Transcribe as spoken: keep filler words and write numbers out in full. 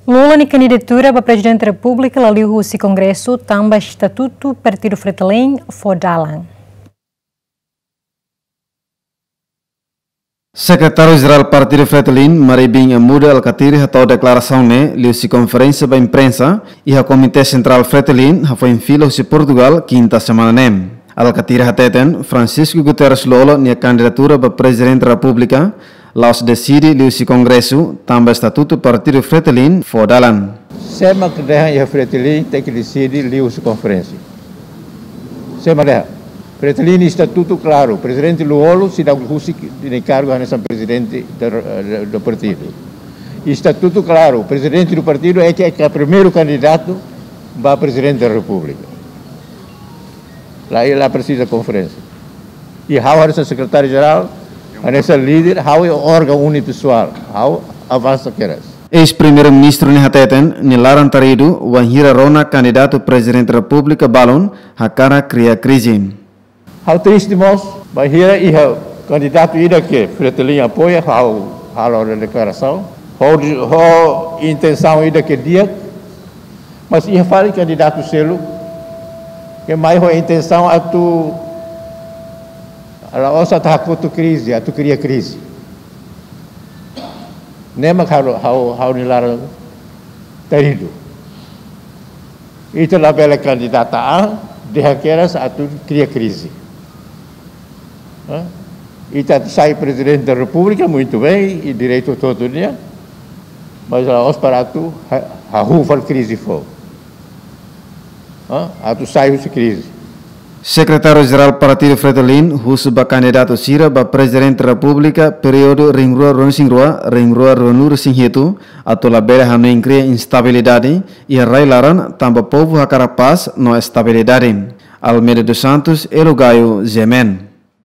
Lula nia kandidatura ba Prezidente Repúblika la liu husi Kongresu tanba estatutu Partidu Fretilin fó dalan. Sekretáriu Jerál Partidu Fretilin, Mari Bin Amuda Alkatiri, hato'o deklarasaun ne'e liuhusi konferénsia ba imprensa iha Komité Sentrál Fretilin, hafoin fila husi Portugal, kinta semana ne'e. Alkatiri hateten, Francisco Guterres Lú-Olo nia kandidatura ba Prezidente Repúblika la'ós deside liuhusi Kongresu, tanba estatutu Partidu Fretilin fó dalan. Sé mak dehan iha Fretilin tenke deside liuhusi konferénsia. Sé mak dehan. Fretilin estatutu klaru, Prezidente Lú-Olo seidauk husik nia kargu hanesan prezidente do, do partidu. Estatutu klaru, prezidente do partidu é que é primeiru kandidatu ba Prezidente da Repúblika. La, la presiza konferénsia. I ha'u hanesan sekretáriu jerál, hanesan líder, ha'u é órgaun unipessoál, ha'u avansa kedas. Eis-Primeiru-Ministru ne'e hateten, nia laran-taridu wainhira rona kandidatu Prezidente Repúblika balun hakarak kria krize. Ha'u triste mós, bainhira iha kandidatu ida ke Fretilin apoia, ha'u halo deklarasaun. Ho, ho intensaun ida ke di'ak, mas iha fali kandidatu seluk ke mai ho intensaun atu la'ós atu hakotu krize, atu kria krize. Ne'e mak ha'u, ha'u, ha'u-nia laran-taridu. Ita labele kandidata an, dehan kedas atu kria krize. Hã? Ita atu sai Prezidente da Repúblika, muito bem, i direitu hotu-hotu nian, mas la'ós para atu ha-, hahú fali krize foun. Hã? Atu sai husi krize. Sekretáriu Jerál Partidu Fretilin husu ba kandidatu sira ba Prezidente Repúblika períodu rihun rua ruanulu-resin-rua, rihun rua ruanulu-resin-hitu, atu labele hanoin kria instabilidade iha rai-laran tanba povu hakarak pás no estabilidade. Almeida dos Santos, Elo Gayo, G M N.